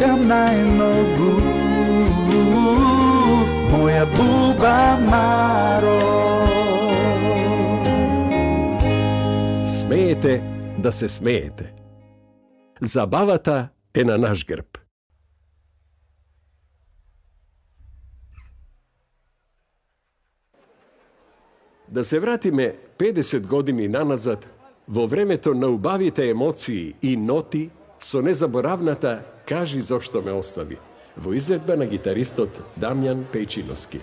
чекам најмногу, моја буба Маро. Смеете да се смеете. Забавата е на наш грб. Да се вратиме 50 години наназад, во времето на убавите емоции и ноти, со незаборавната "Кажи зошто ме остави", во изvedба на гитаристот Дамјан Пејчиновски.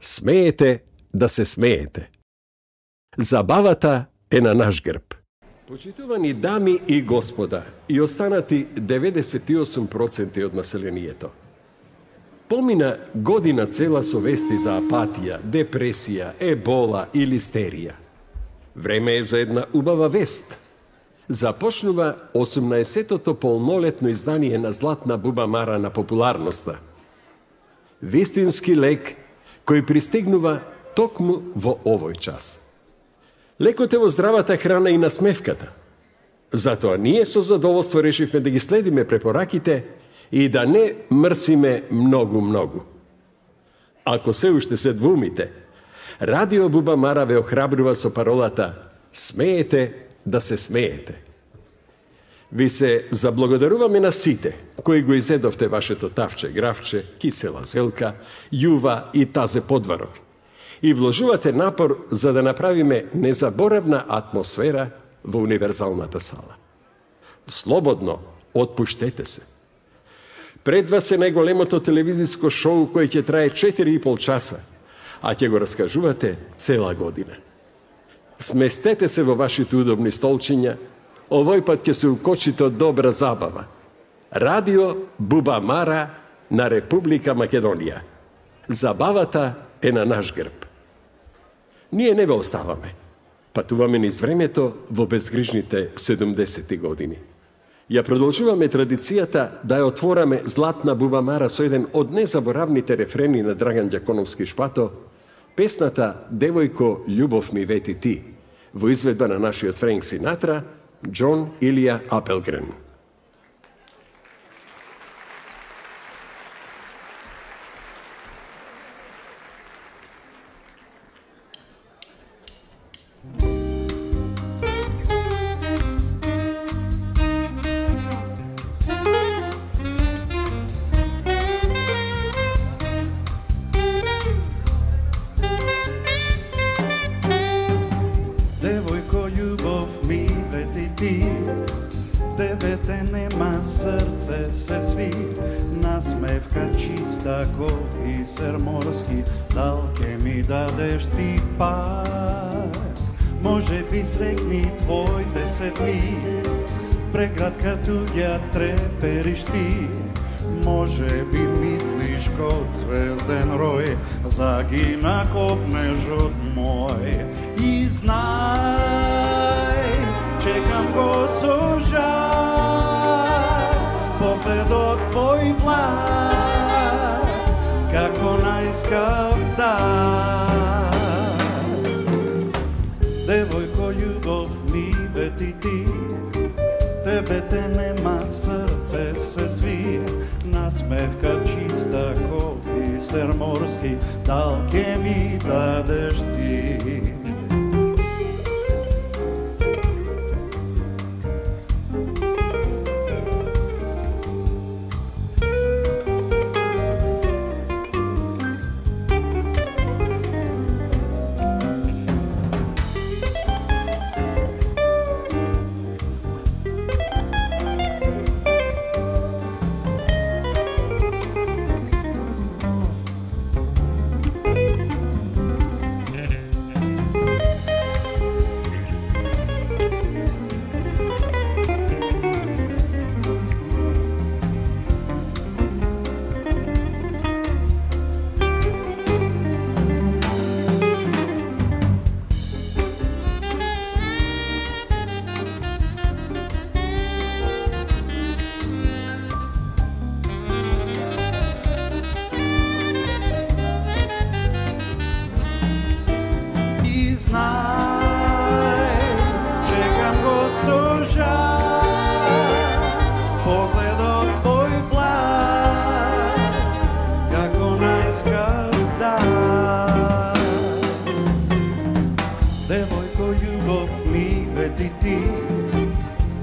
Смеете да се смеете. Забавата е на наш грб. Почитувани дами и господа и останати 98% од населението. Помина година цела со вести за апатија, депресија, ебола и листерија. Време е за една убава вест. Започнува 18-тото полнолетно издание на Златна буба Мара на популарноста. Вистински лек кој пристигнува токму во овој час. Лекот е во здравата храна и насмевката. Затоа ние со задоволство решивме да ги следиме препораките и да не мрсиме многу. Ако се уште се двумите, Радио Буба Мара ве охрабрува со паролата «Смеете да се смеете». Ви се заблагодаруваме на сите кои го изедовте вашето тавче, гравче, кисела зелка, јува и тазе подварок и вложувате напор за да направиме незаборавна атмосфера во универзалната сала. Слободно отпуштете се. Пред вас е најголемото телевизиско шоу кој ќе трае 4,5 часа, а ќе го раскажувате цела година. Сместете се во вашите удобни столчиња, овој пат ќе се укочите од добра забава. Радио Буба Мара на Република Македонија. Забавата е на наш грб. Ние не ве оставаме. Патуваме низ времето во безгрижните 70-ти години. Ја продолжуваме традицијата да ја отвораме Златна Буба Мара со еден од незаборавните рефрени на Драган Ѓаконовски Шпато, песната «Девојко, љубов ми вети ти», во изведба на нашиот Френк Синатра, Џон Илија Апелгрен. Девојко, љубов ми вети ти, тебе те нема, срце се сви, насмевка чиста ко бисер морски, дал ке ми дадеш ти пак. Може би срекни твоите се дни, преградка туѓа трепериш ти, може би мислиш код звезден рој, загина копнежот мој. И знај, чекам го со жар, погледот твој благ, како најскап дар. Девојко, љубов ми вети ти, тебе те нема, срце се сви, насмевка чиста ко бисер морски, дал ке ми дадеш ти.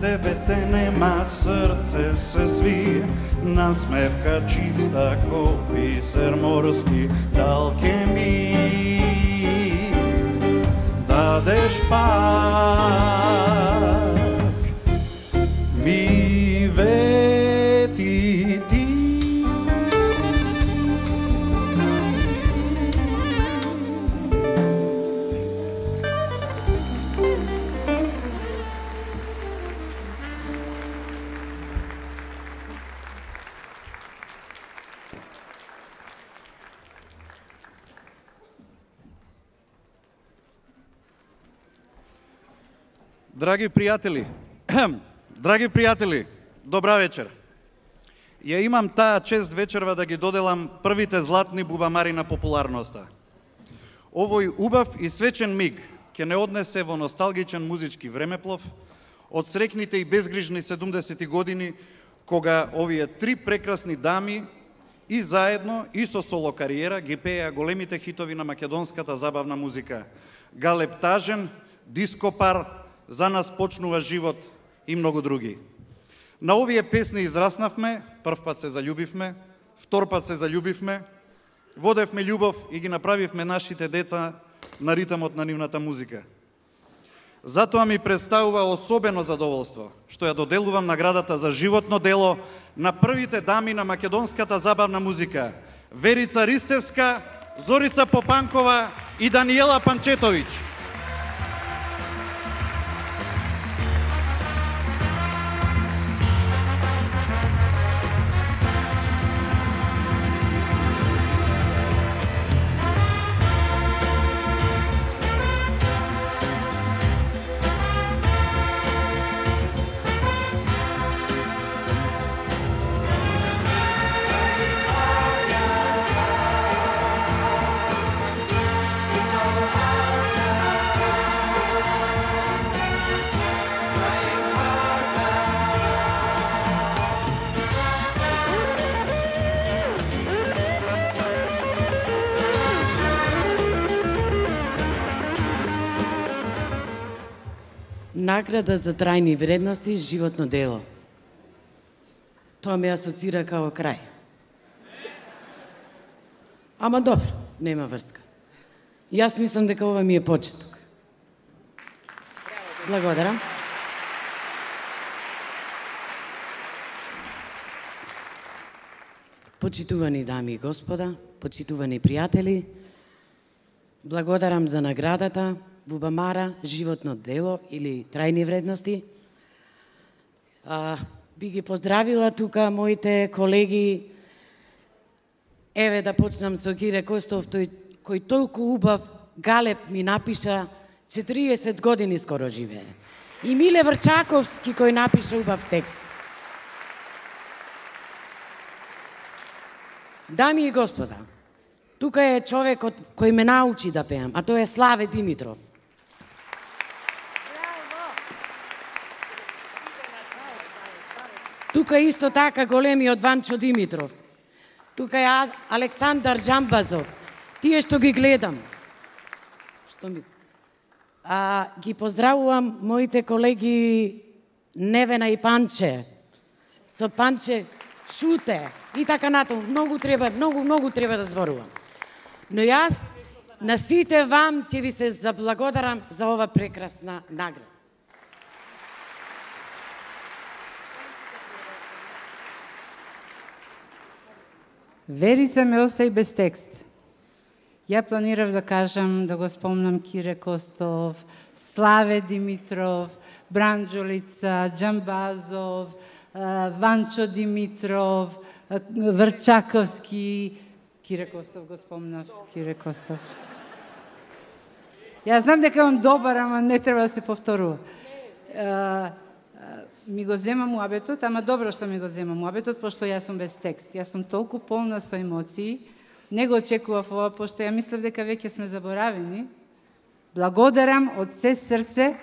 Тебе те нема, срце се сви, насмевка чиста ко бисер морски, дал ке ми дадеш пак, ми вети ти. Драги пријатели, добра вечер. Ја имам таа чест вечерва да ги доделам првите златни бубамари на популарноста. Овој убав и свечен миг ќе не однесе во носталгичен музички времеплов од срекните и безгрижни 70-ти години, кога овие три прекрасни дами и заедно и со соло кариера ги пееа големите хитови на македонската забавна музика. Галеб Тажен, Диско пар, За нас почнува живот и многу други. На овие песни израснавме, прв пат се заљубивме, втор пат се заљубивме, водевме љубов и ги направивме нашите деца на ритмот на нивната музика. Затоа ми представува особено задоволство што ја доделувам наградата за животно дело на првите дами на македонската забавна музика: Верица Ристевска, Зорица Попанкова и Даниела Панчетовиќ. Награда за трајни вредности, животно дело. Тоа ме асоцира као крај. Ама добро, нема врска. Јас мислам дека ова ми е почеток. Благодарам. Почитувани дами и господа, почитувани пријатели, благодарам за наградата Бубамара, животно дело или трајни вредности. Би ги поздравила тука моите колеги. Еве да почнам со Кире Костов, кој толку убав галеб ми напиша, 40 години скоро живее. И Миле Врчаковски кој напиша убав текст. Дами и господа, тука е човекот кој ме научи да пеам, а тоа е Славе Димитров. Тука исто така големиот Ванчо Димитров. Тука е Александар Джамбазов. Тие што ги гледам. Ги поздравувам моите колеги Невена и Панче. Со Панче Шуте и така натаму. Многу треба да зборувам. Но јас на сите вам ќе ви се заблагодарам за ова прекрасна награда. Верица ме остави без текст. Ја планирав да кажам, да го спомнам Кире Костов, Славе Димитров, Бранџолица, Джамбазов, Ванчо Димитров, Врчаковски, Кире Костов го спомнав, Кире Костов. Јас знам дека он добар, ама не треба да се повторува. Ми го земам муабетот, ама добро што ми го земам муабетот, пошто јас сум без текст. Јас сум толку полна со емоции. Не го очекував ова, пошто ја мислев дека веќе сме заборавени. Благодарам од се срце.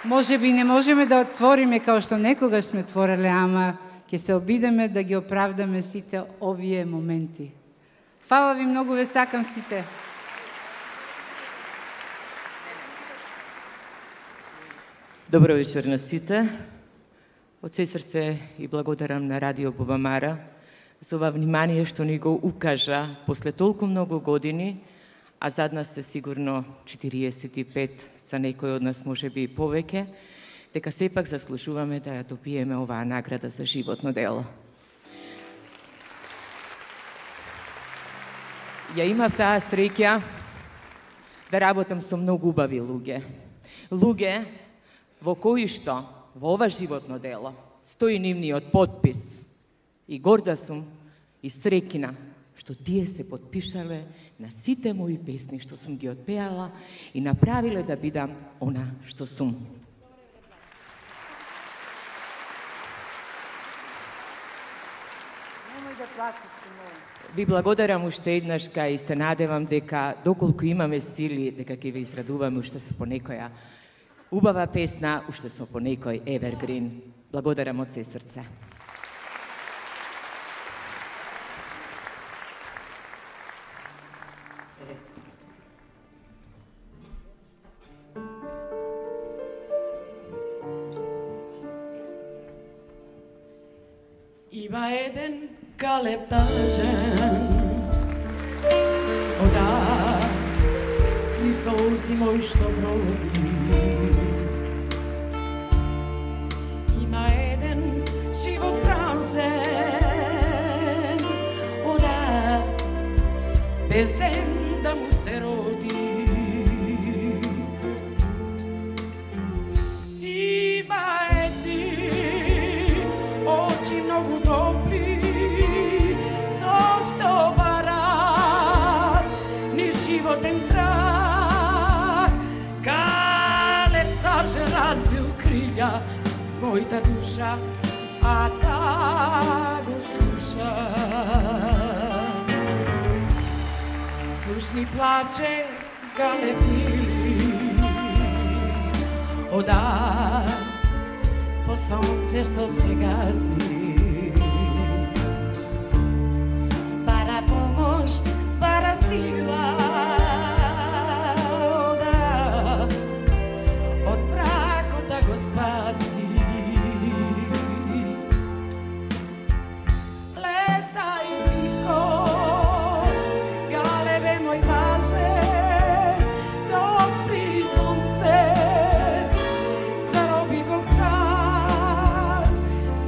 Може би не можеме да отвориме као што некогаш сме твореле, ама ќе се обидеме да ги оправдаме сите овие моменти. Фала ви многу, ве сакам сите. Добро вечер на сите. Од се срце и благодарам на Радио Бубамара за ова внимание што ни го укажа после толку многу години, а зад нас се сигурно 45, за некој од нас може би и повеќе, дека сепак заслужуваме да ја добиеме оваа награда за животно дело. Ја имав таа среќа да работам со многу убави луѓе. Луѓе во кои што во ова животно дело стои нивниот потпис. И горда сум и среќна што тие се подпишале на сите мои песни што сум ги отпеала и направиле да бидам она што сум. Ви благодарам уште еднашка и се надевам дека доколку имаме сили, дека ќе ви израдуваме уште со по некоја убава песна, уште со по некој evergreen. Благодарам од се срце. Има еден Калеб тажен, ода ни солзи мој што броди. Има еден живот празен, ода без ден да му се роди. Има едни очи многу добри, зошто барат ни животен трак. Калеб тажен развил крилја, мојта душа, а та го слуша. Слушни плаче Калеб мили, ода по сонце што се гази. Пара помош, пара сила, ода од бракот да го спаси. Летај тивко, Калебе мој тажен, допри сонце, зароби го в час.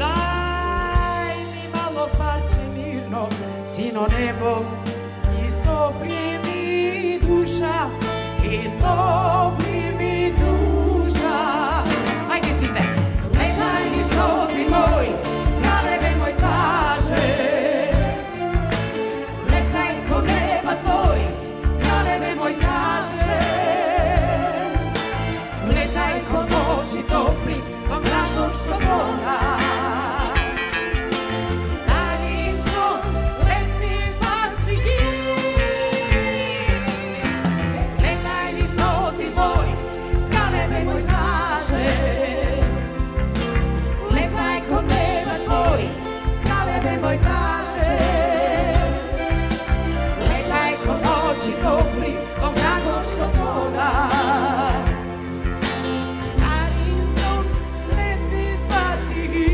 Дај ми мало парче мирно, сино небо, истопри ми душа, истопри ми душа. Ајде сите! Летај ни софи мој, Калебе мој тажен. Летај ко неба твој, Калебе мој тажен. Летај ко ночи топли, во мракот што гора. Дарим сон, летни спаси ги. Летај ни софи мој, Калебе мој тажен. Летај ко неба твој, Калебе мој тажен. Летај ко ночи топли, во мракот што гора. Дарим сон, летни спаси ги.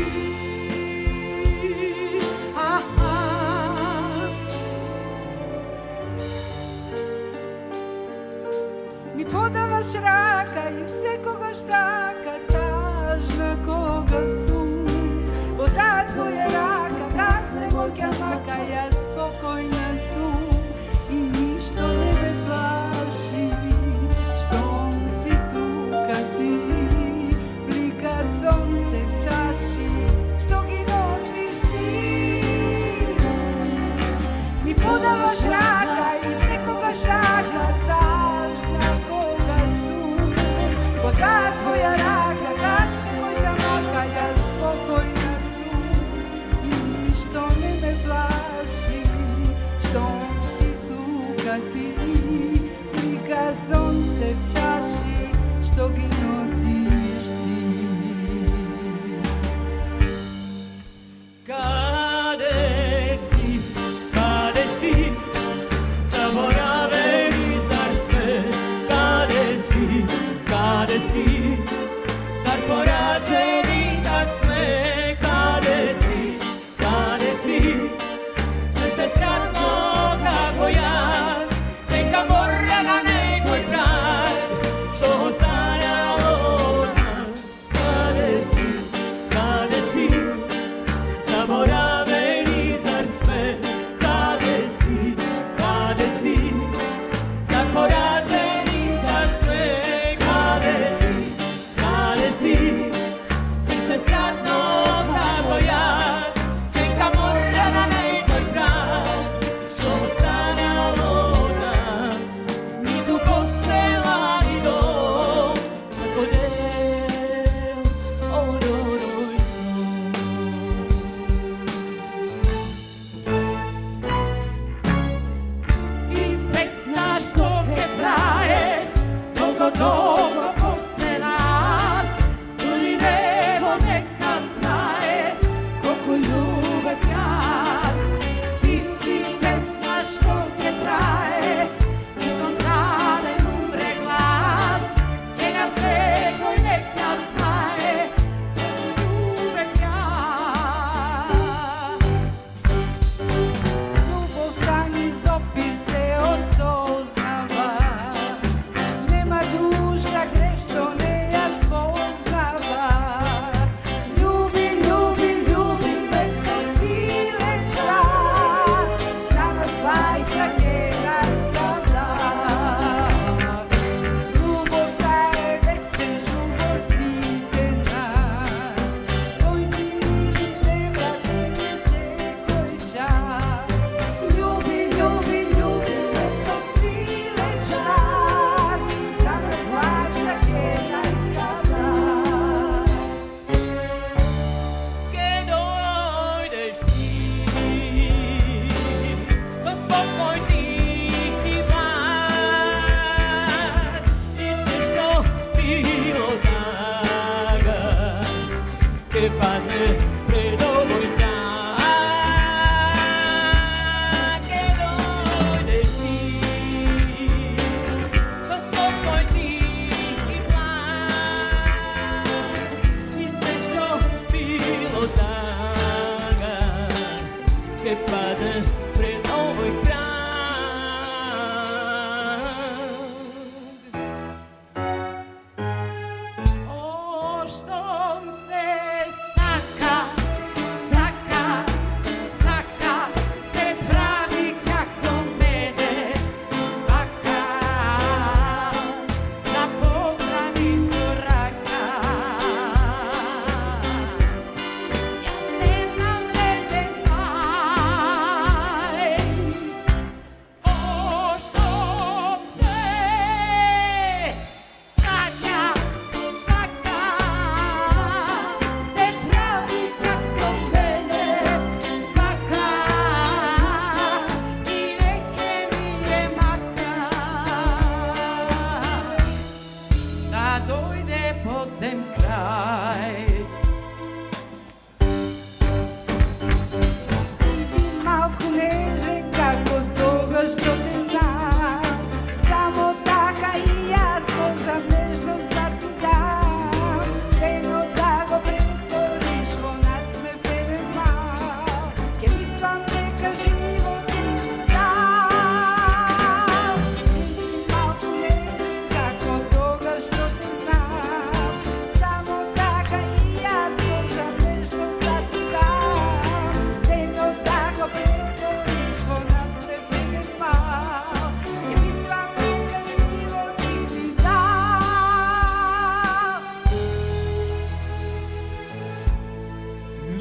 Ми подаваш рака и секогаш така тажна кога сум. Во таа твоја рака гасне моја мака, јас спокојна сум и ништо не ме плаши. Штом си тука ти, блика сонце в чаши, што ги носиш ти. Ми подаваш рака и секогаш така тажна кога сум. Во таа твоја рака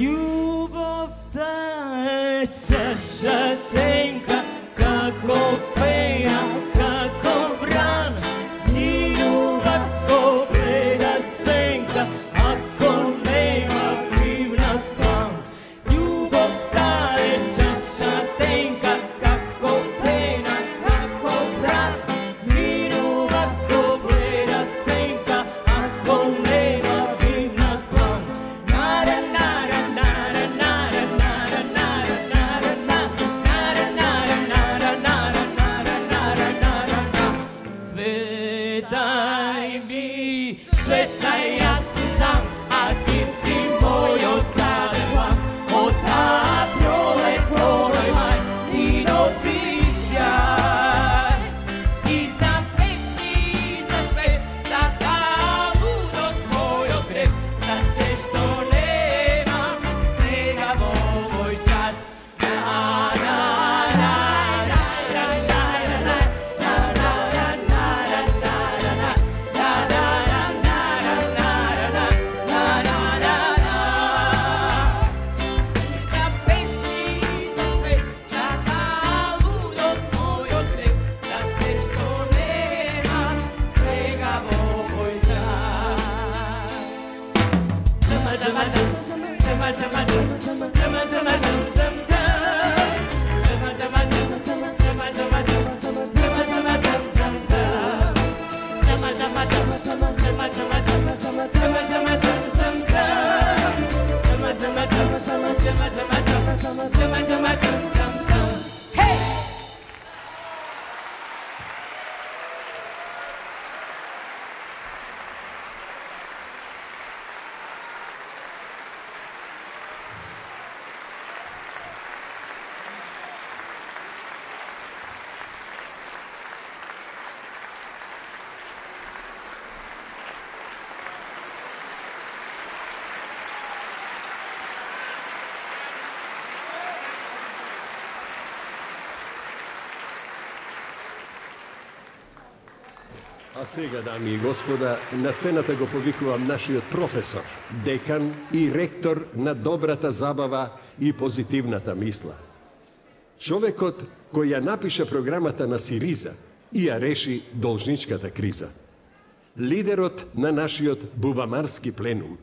Љубовта е чаша тенка, како пеја, како вран, згинува ко бледа сенка, ако нема пивна план. Љубовта е чаша тенка, како пеја, како вран, згинува ко бледа сенка, ако нема пивна план. Нара, нара, нара, нара, нара, нара, нара, нара, нара, нара, нара, нара, нара, нара, нара. Светај ми, светај, јас сум сам, а ти си мојот заден план. Од таа пролеј мај, ти носиш сјај. И за песни, и за спев, за таа лудост мојот грев, за се што немам сега во овој час. На, на, на, на, на, на, на, на, на, на, на, на, на, за песни, за спев, за таа лудост мојот грев, за се што немам сега во овој час. Зама, зама, зама, зама, зама, зама, зама, зама, зама, зама, зама, зама, зама, зама, зама, зама, зама, зама, Hey! А сега, дами и господа, на сцената го повикувам нашиот професор, декан и ректор на добрата забава и позитивната мисла. Човекот кој ја напиша програмата на Сириза и ја реши должничката криза. Лидерот на нашиот бубамарски пленум.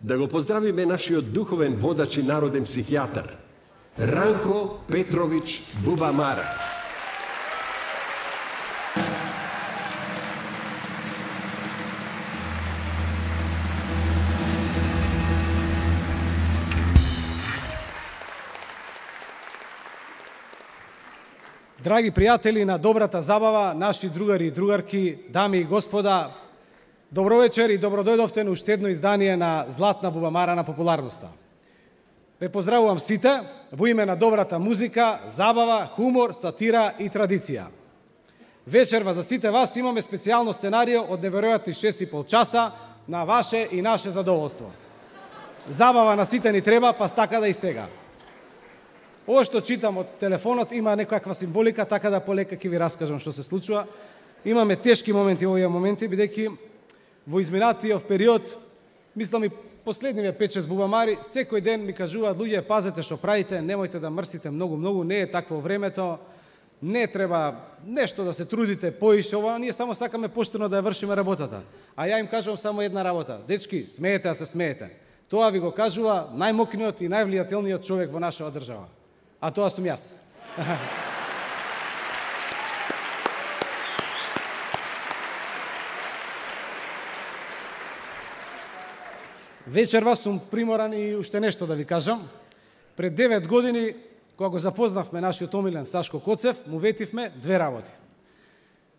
Да го поздравиме нашиот духовен водач и народен психијатар, Ранко Петрович Бубамара. Драги пријатели на добрата забава, наши другари и другарки, дами и господа, добро вечер и добро дојдовте на уште едно издание на Златна бубамара на популарноста. Ве поздравувам сите во име на добрата музика, забава, хумор, сатира и традиција. Вечерва за сите вас имаме специјално сценарио од неверојатни 6,5 часа на ваше и наше задоволство. Забава на сите ни треба, па така да и сега. Ова што читам од телефонот има некаква символика, така да полека ќе ви раскажам што се случува. Имаме тешки моменти во овие моменти, бидејќи во изминатиот период, мислам и последниве 5-6 бубамари, секој ден ми кажуваат луѓе, пазете што правите, немојте да мрсите многу, не е такво времето, не треба нешто да се трудите поише, ова ние само сакаме поштено да ја вршиме работата. А ја им кажувам само една работа. Дечки, смеете да се смеете. Тоа ви го кажува најмокниот и највлијателниот човек во нашава држава. А тоа сум јас. Вечерва сум приморан и уште нешто да ви кажам. Пред 9 години, кога го запознавме нашиот омилен Сашко Коцев, му ветивме две работи.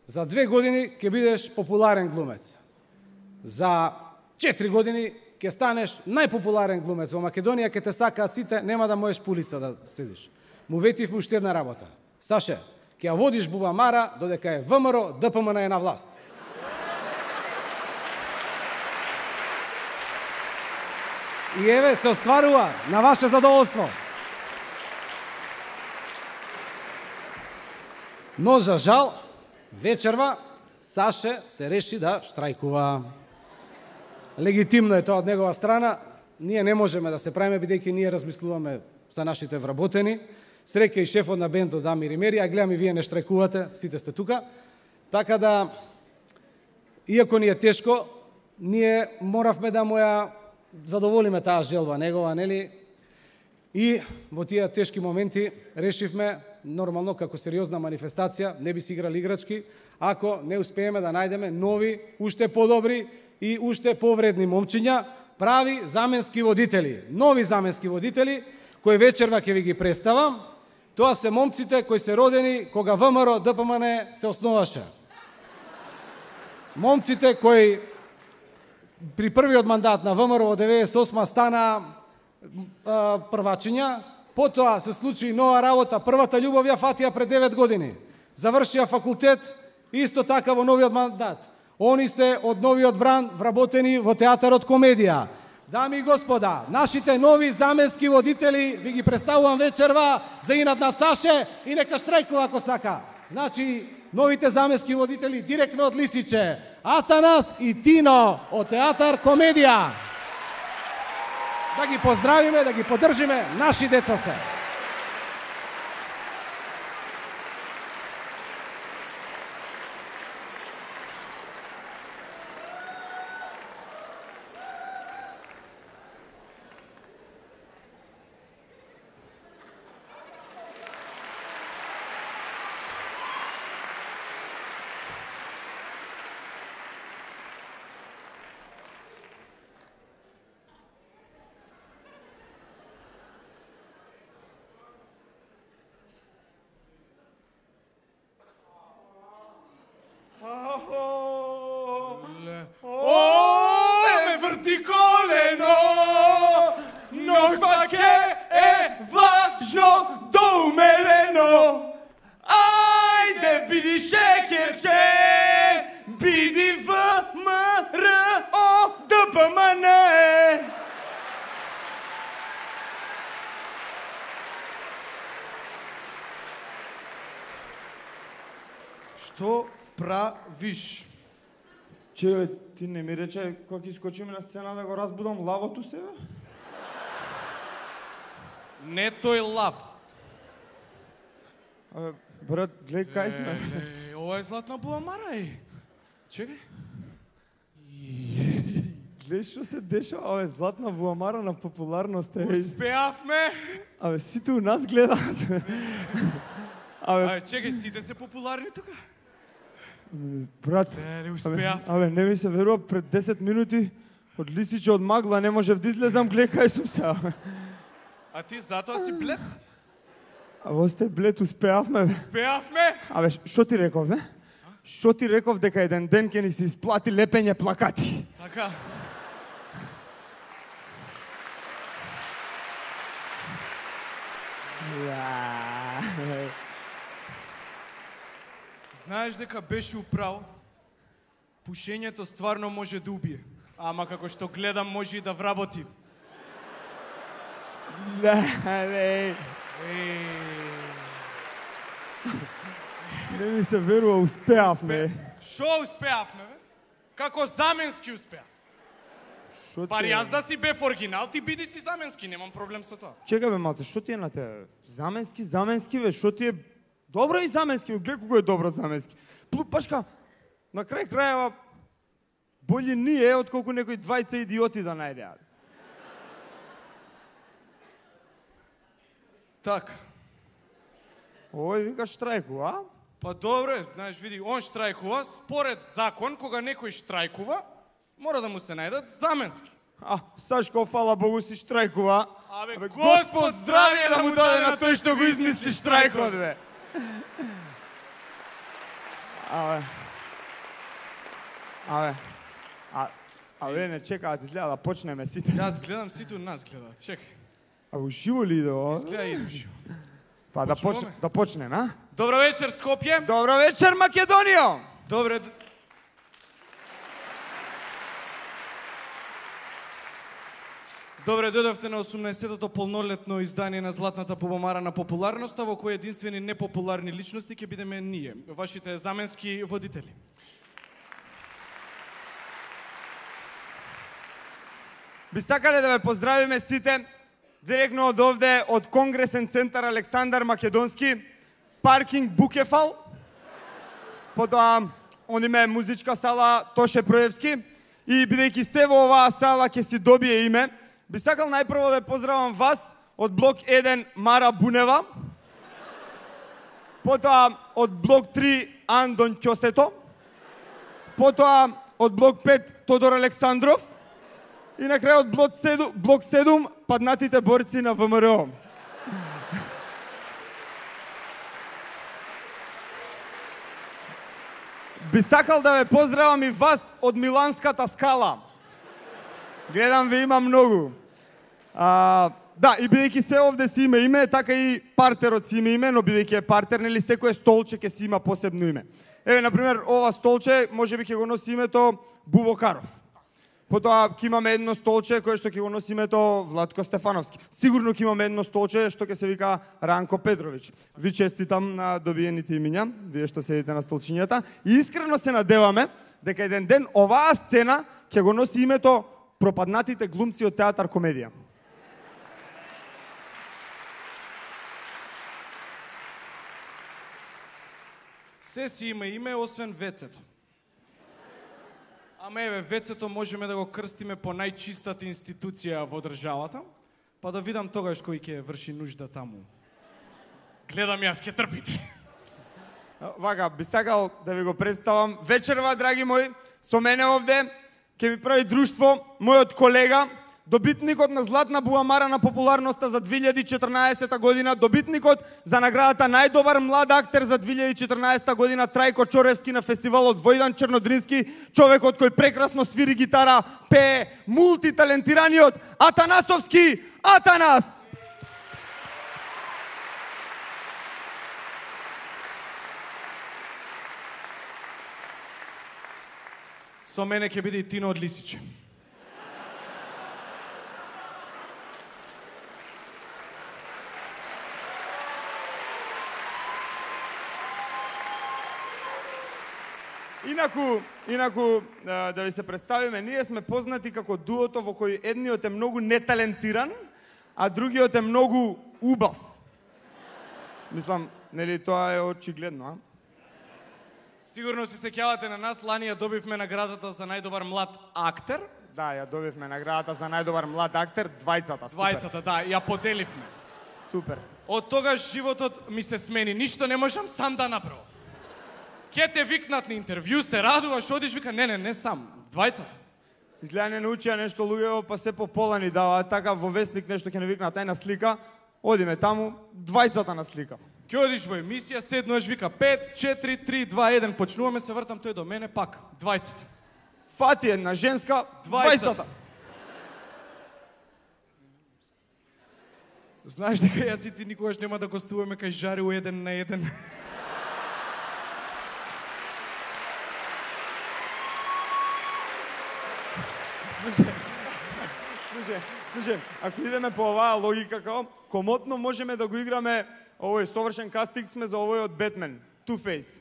За 2 години ќе бидеш популарен глумец. За 4 години ќе станеш најпопуларен глумец во Македонија, ќе те сакаат сите, нема да можеш по улица да седиш. Му ветивме уште една работа. Саше, ќе ја водиш бубамара додека е ВМРО, ДПМН е на власт. И еве се остварува на ваше задоволство. Но за жал, вечерва Саше се реши да штрајкува. Легитимно е тоа од негова страна. ние не можеме да се правиме, бидејќи ние размислуваме за нашите вработени. Среќа и шефот на бендот Дамир и Мери, а гледам и вие не штрајкувате, сите сте тука. Така да, иако ни е тешко, ние моравме да му ја задоволиме таа желба негова, нели? И во тие тешки моменти решивме, нормално, како сериозна манифестација, не би си играли играчки, ако не успееме да најдеме нови, уште подобри и уште повредни момчиња, прави заменски водители, нови заменски водители, кои вечерва ќе ви ги представам. Тоа се момците кои се родени кога ВМРО ДПМН се основаше. Момците кои при првиот мандат на ВМРО во 98 стана првачиња, потоа се случи нова работа, првата љубов ја фатија пред 9 години. Завршија факултет, исто така во новиот мандат. Они се од новиот бран вработени во театарот комедија. Дами и господа, нашите нови заменски водители ви ги представувам вечерва за инат на Саше и нека штрајкува ако сака. Значи, новите заменски водители директно од Лисиче, Атанас и Тино од театар комедија. Да ги поздравиме, да ги поддржиме, наши деца се. Што правиш? Че, ти не ми рече кога ќе искочиме на сцена да го разбудам лавото себе? Не тој лав. Брат, глеј кај сме. Ова е Златна Буамара, Чекај. Глеј што се дешава, аве, Златна Буамара на популарност е. Успеавме. Абе, сите у нас гледаат. Абе, чекај, сите се популарни тука. Брат, Не успеав. абе, не ми се верува, пред 10 минути од Лисиче од магла не можев да излезам, глеј кај сум се. А ти затоа си блед? Абе, сте блед, успеавме. Успеавме. Абе, што ти реков, не? Што ти реков дека еден ден ќе ни се исплати лепење плакати? Така. Знаеш дека беше управо? Пушењето стварно може да убие. Ама како што гледам може и да вработи. Не ми се верува, успеавме. Шо успеавме, бе? Како заменски успеав. Пари јас да си бев оригинал, ти биди си заменски, немам проблем со тоа. Чекај бе, малце, што ти е на тебе? Заменски бе, што ти е... Добро и заменски, гледай кога е добро заменски. Пашка, на крај крајава, боље ние, отколку некои двајца идиоти да најдеат. Така. Ој, викаш штрајку, а? Па добре, знаеш, види, он штрајкува, според закон, кога некој штрајкува, мора да му се најдат заменски. А, Сашко, фала Богу, си штрајкува. Абе, Господ здравје да му даде на тој што го измисли штрајкот, бе. Абе, не чекаат, изгледа да почнеме сите. Јас гледам, сите у нас гледаат, чекај. Абе, уживо ли иде ова? Изгледа иде уживо. Па да почнеме, а? Добро вечер, Скопје. Добро вечер, Македонија! Добре. Добре дојдовте на 18-тото полнолетно издание на Златната Буамара на популарноста, во кој единствени непопуларни личности ќе бидеме ние, вашите заменски водители. би сакале да ве поздравиме сите директно од овде, од Конгресен центар Александар Македонски, паркинг Букефал, потоа ониме музичка сала Тоше Проевски, и бидејќи се во оваа сала ќе си добие име, би сакал најпрво да поздравам вас од блок 1 Мара Бунева, потоа од блок 3 Андон Ќосето, потоа од блок 5 Тодор Александров и на крај од блок 7 паднатите борци на ВМРО. Би сакал да ве поздравам и вас од Миланската скала. Гледам ве има многу. Да, и бидејќи се овде си има име, така и партерот си има име, но бидејќи е партер, нели секое столче ќе си има посебно име. Еве, например, ова столче можеби ќе го носи името Бубокаров. Потоа ќе имаме едно столче кое што ќе го носи името Владко Стефановски. Сигурно ќе имаме едно столче што ќе се вика Ранко Петрович. Ви честитам на добиените имиња, вие што седите на столчињата, и искрено се надеваме дека еден ден оваа сцена ќе го носи името Пропаднатите глумци од театар комедија. Се си има име, освен вецето. Ама еве, вецето можеме да го крстиме по најчистата институција во државата, па да видам тогаш кој ќе врши нужда таму. Гледам јас, ќе трпите. Вака, би сакал да ви го представам. Вечерва, драги мои, со мене овде ќе ми прави друштво мојот колега, добитникот на Златна буамара на популарноста за 2014 година, добитникот за наградата најдобар млад актер за 2014 година, Трајко Чоревски на фестивалот Војдан Чернодрински, човекот кој прекрасно свири гитара, пее, мултиталентираниот Атанасовски Атанас! Со мене ќе биде и Тино од Лисиче. Инаку, да ви се представиме, ние сме познати како дуото во кој едниот е многу неталентиран, а другиот е многу убав. Мислам, нели тоа е очигледно, а? Сигурно се сеќавате на нас, лани ја добивме наградата за најдобар млад актер. Да, ја добивме наградата за најдобар млад актер, двајцата, супер. Двајцата, да, ја поделивме. Супер. Од тогаш животот ми се смени, ништо не можам сам да направам. Ке те викнат на интервју, се радуваш, одиш, вика, не сам, двајцата. Изгледа не научија нешто луѓево, па се по пола ни даваат, така во вестник нешто ќе не викнат, ај на слика, одиме таму, двајцата на слика. Ке одиш во емисија, седнуеш, вика 5, 4, 3, 2, 1, почнуваме, се вртам тој до мене, пак, двајцата. Фати една женска, двајцата. Знаеш дека јас и ти никогаш нема да гостуваме кај Жари у 1 на 1. Слушай, ако идеме по оваа логика, комотно можеме да го играме овој совршен кастинг сме за овој од Бетмен, Two-Face.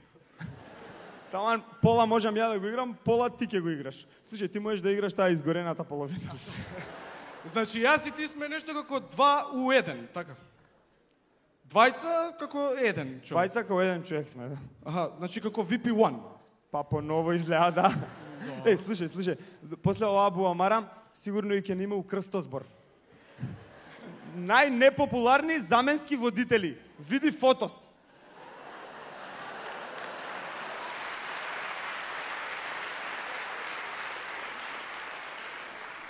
Таман пола можам ја да го играм, пола ти ќе го играш. Слушај, ти можеш да играш таа изгорената половина. Значи, јас и ти сме нешто како 2 у 1, така. Двајца како еден човек. Двајца како еден човек сме, да. Аха, значи како VP1. Па поново изгледа, да. Слушај, после оваа буамара, сигурно и ќе не имау крстозбор. Најнепопуларни заменски водители. Види фотос.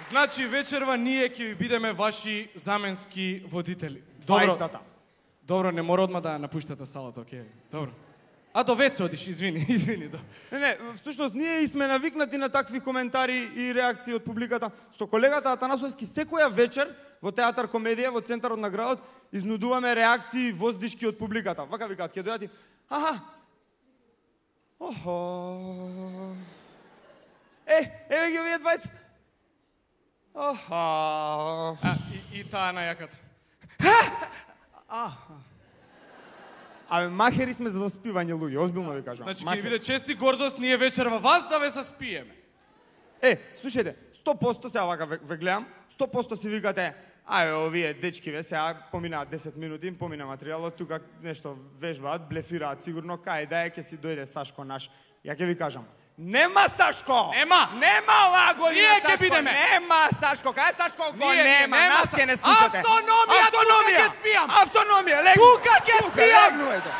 Значи, вечерва ние ќе ви бидеме ваши заменски водители. Двајцата. Добро, не мора одма да напуштате салата, окей. Добро. А до веце одиш, извини. Да. Не, всушност ние и сме навикнати на такви коментари и реакции од публиката. Со колегата Атанасовски секоја вечер во театар комедија, во центарот на градот, изнудуваме реакции и воздишки од публиката. Вака викаат, ќе дојдат и охо. Еве ги овие двајца. Охо. И таа на јаката. Абе, махери сме за заспивање луѓе, озбилно ви кажам. Значи, ќе биде чест и гордост ние вечерва вас да ве заспиеме. Слушајте, 100% сега вака ве гледам, 100% си викате, овие дечки сега поминаат 10 минути, им помина материјалот, тука нешто вежбаат, блефираат сигурно, кај да ќе си дојде Сашко наш. Ја ќе ви кажам, нема Сашко! Нема оваа година Сашко! бидеме. Нема Сашко! Кај Сашко го нема? Нас ќе не слушате. Автономија, тука ќе спијам! Автономија, легни! Тука ќе спијам! Ајде!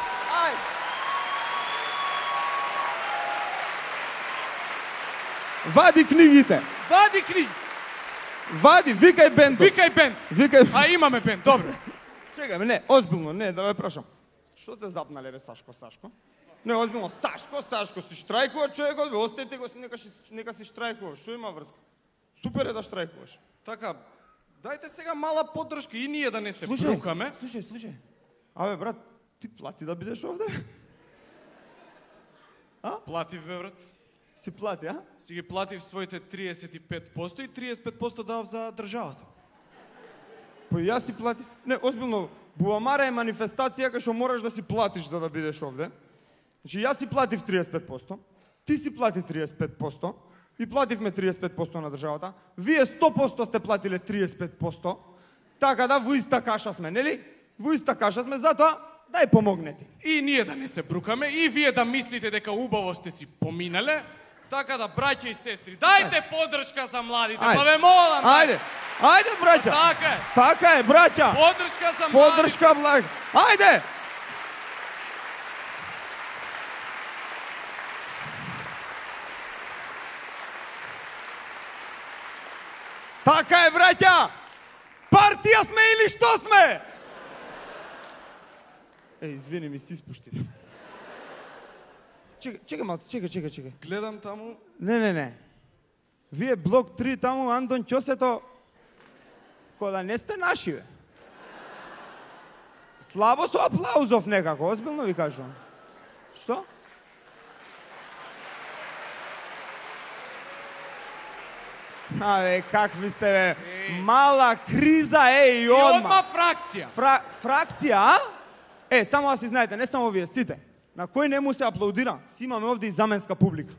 Вади книгите! Вади книги! Вади, викај бендот! Викај бенд! А имаме бенд, добро. Чекај, не, озбилно, не, да ве прашам. Што се запнале, бе, Сашко? Не, озбилно, Сашко, си штрајкува човекот, бе, остајте го, нека си штрајкува, што има врска? Супер е да штрајкуваш. Така, дајте сега мала поддршка и ние да не се брукаме. Слушај. Абе, брат, ти плати да бидеш овде? Платив, бе, брат. Си плати, а? Си ги платив своите 35% и 35% давав за државата. Па јас си платив. Не, озбилно, Бубамара е манифестација кај што мораш да си платиш за да бидеш овде. Значи, јас си платив 35%, ти си плати 35% и плативме 35% на државата. Вие 100% сте платиле 35%, така да во иста каша сме, нели? Во иста каша сме, затоа дај помогнете. И ние да не се брукаме, и вие да мислите дека убаво сте си поминале, така да, браќа и сестри, дајте поддршка за младите, па ве молам. Ајде, браќа. Така е, браќа. Поддршка за младите. Поддршка, благ. Ајде. Така е, браќа. Партија сме или што сме? Извини, ми си испушти. Чекай малце, чекай. Гледам таму. Не. Вие блок 3 таму, Андон Ќосето, кода не сте наши, бе. Слабо со аплаузов некако, озбилно ви кажувам. Што? Какви сте, бе? Мала криза, и одма. Фракција. Фракција, а? Само да си знаете, не само вие, сите. На кој не му се аплаудира, си имаме овде и заменска публика.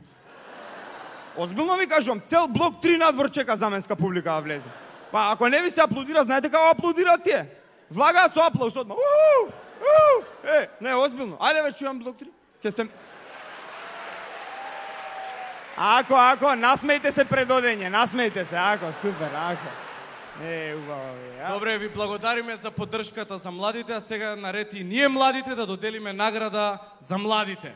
Озбилно ви кажувам, цел блок 3 надвор чека заменска публика да влезе. Па ако не ви се аплаудира, знаете како аплаудираат тие? Влагаат со аплауз одма. Не, озбилно. Ајде ве чујам блок 3. Ке се... Ако, насмејте се пред одење, насмејте се, супер, убаво ви. Добре, ви благодариме за поддршката за младите, а сега наред и ние младите да доделиме награда за младите.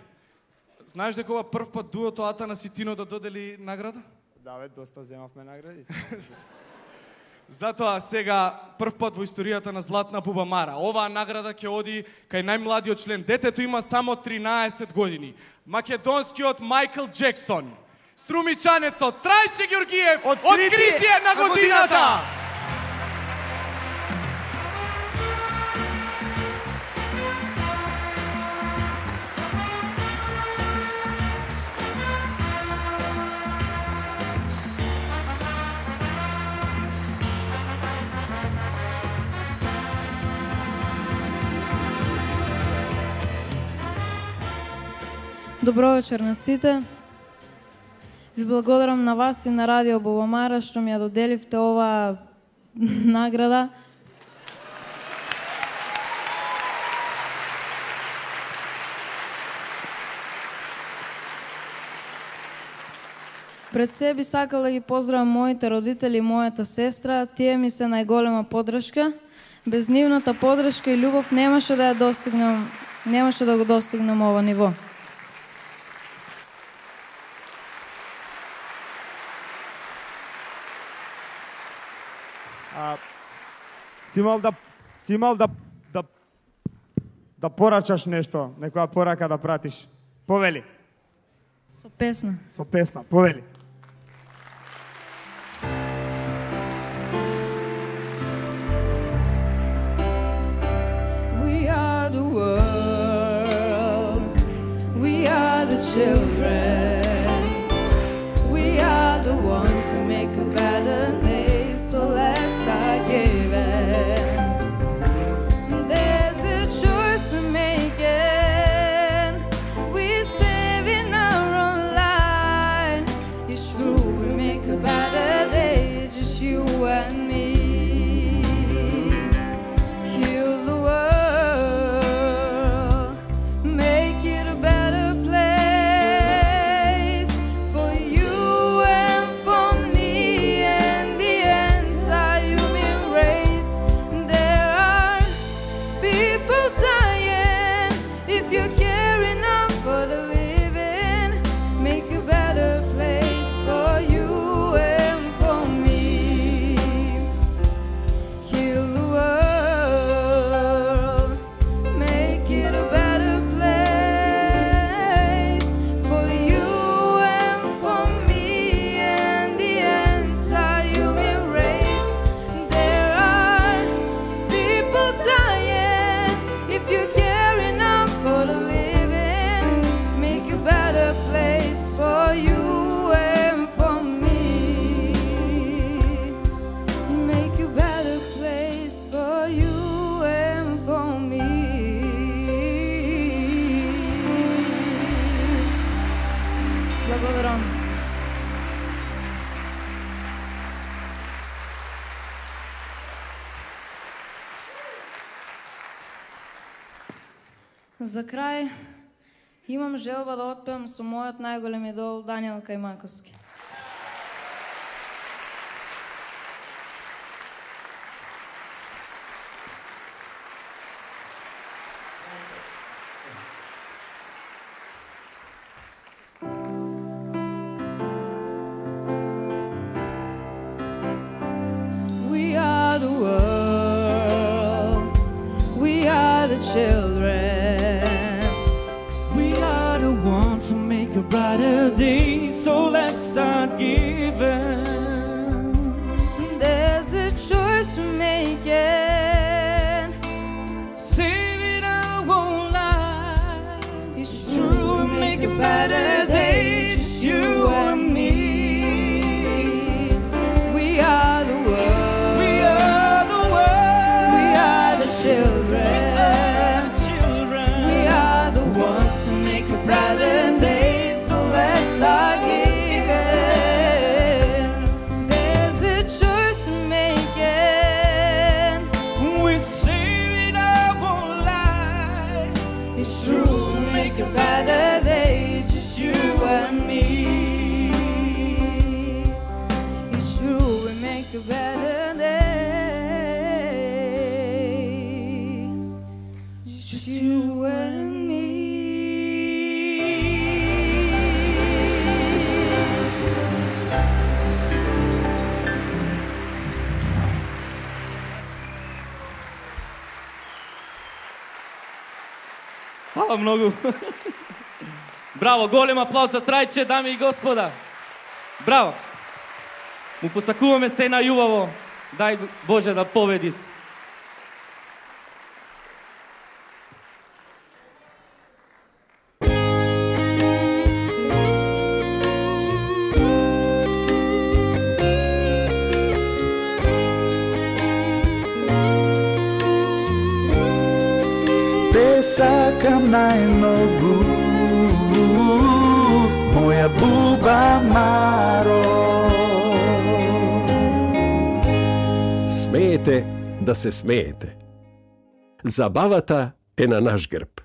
Знаеш дека ова прв пат дуото Атанас и Тино да додели награда? Да, бе, доста земавме награди. Затоа сега прв пат во историјата на Златна Бубамара. Оваа награда ќе оди кај најмладиот член. Детето има само 13 години. Македонскиот Майкл Джексон. Струмичанецот Трајче Ѓоргиев. Откритие на годината! Добро вечер на сите. Ви благодарам на вас и на Радио Бубамара што ми ја доделивте оваа награда. Пред се би сакала да ги поздравам моите родители и мојата сестра. Тие ми се најголема поддршка. Без нивната поддршка и љубов немаше да го достигнем ова ниво. Си имал да порачаш нешто, некоја порака да пратиш. Повели. Со песна. Со песна, повели. We are the world. We are the children. We are the ones who make a better day. So let's start giving. There's a choice we're making. We're saving our own line. It's true, we make a better day. Just you and me. За крај, имам желба да отпеам со мојот најголем идол Даниел Кајмаковски. We are the world, we are the children. We are the ones who make a brighter day, so let's start giving. There's a choice we're making. Saving our own lives. It's true, make a better day, just you and me. We are the world, We are the world. we are the children. Children. We are the ones who make a brighter day, so let's start giving. There's a choice we're making. We're saving our own lives. It's true, make a better day, just you and me. It's true, we make a better day, just you and me. Hvala mnogo. Браво, голем аплауз за Трајче, дами и господа. Браво. Му посакуваме се најубаво. Дај Боже да победи. Те сакам најмногу, моја Буба Маро. Смеете да се смеете. Забавата е на наш грб.